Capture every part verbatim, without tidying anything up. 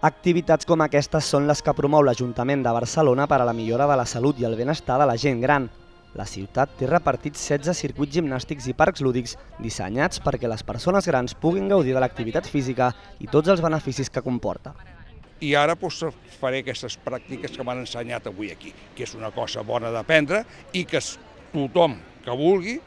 Activitats com aquestes són les que promou l'Ajuntament de Barcelona per a la millora de la salut i el benestar de la gent gran. La ciutat té repartits setze circuits gimnàstics i parcs lúdics dissenyats perquè les persones grans puguin gaudir de l'activitat física i tots els beneficis que comporta. I ara doncs, faré aquestes pràctiques que m'han ensenyat avui aquí, que és una cosa bona d'aprendre i que tothom que vulgui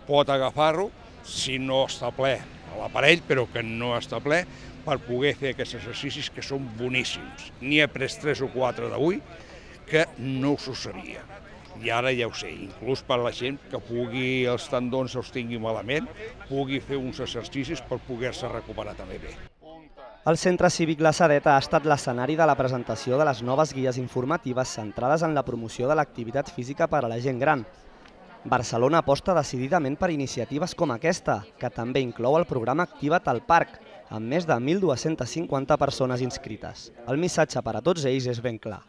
pot agafar-ho si no està ple a l'aparell, però que no està ple, per poder fer aquests exercicis que són boníssims. N'hi he pres tres o quatre d'avui que no us ho sabia. I ara ja ho sé, inclús per la gent que pugui, els tendons els tingui malament, pugui fer uns exercicis per poder-se recuperar també bé. El Centre Cívic La Sedeta ha estat l'escenari de la presentació de les noves guies informatives centrades en la promoció de l'activitat física per a la gent gran. Barcelona aposta decididament per iniciatives com aquesta, que també inclou el programa Activa't al Parc, amb més de mil dues-centes cinquanta persones inscrites. El missatge per a tots ells és ben clar.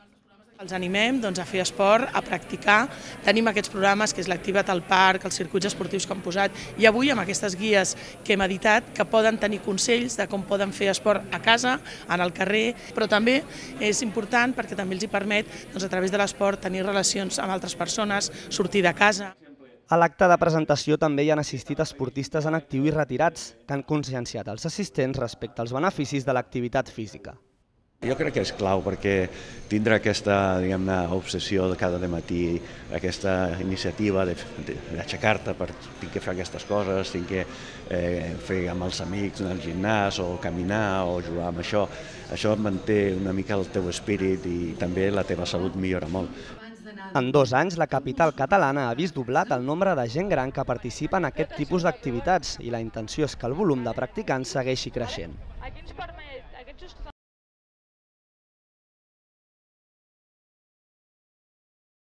Els animem doncs, a fer esport, a practicar. Tenim aquests programes que és l'Activa't al Parc, els circuits esportius que hem posat i avui amb aquestes guies que hem editat que poden tenir consells de com poden fer esport a casa, en el carrer, però també és important perquè també els hi permet doncs, a través de l'esport tenir relacions amb altres persones, sortir de casa. A l'acte de presentació també hi han assistit esportistes en actiu i retirats que han conscienciat els assistents respecte als beneficis de l'activitat física. Jo crec que és clau perquè tindre aquesta diguem-ne obsessió de cada matí, aquesta iniciativa d'aixecar-te per tinc que fer aquestes coses, tinc que eh, fer amb els amics en el gimnàs o caminar o jugar amb això, això manté una mica el teu espírit i també la teva salut millora molt. En dos anys, la capital catalana ha vist doblat el nombre de gent gran que participa en aquest tipus d'activitats i la intenció és que el volum de practicants segueixi creixent.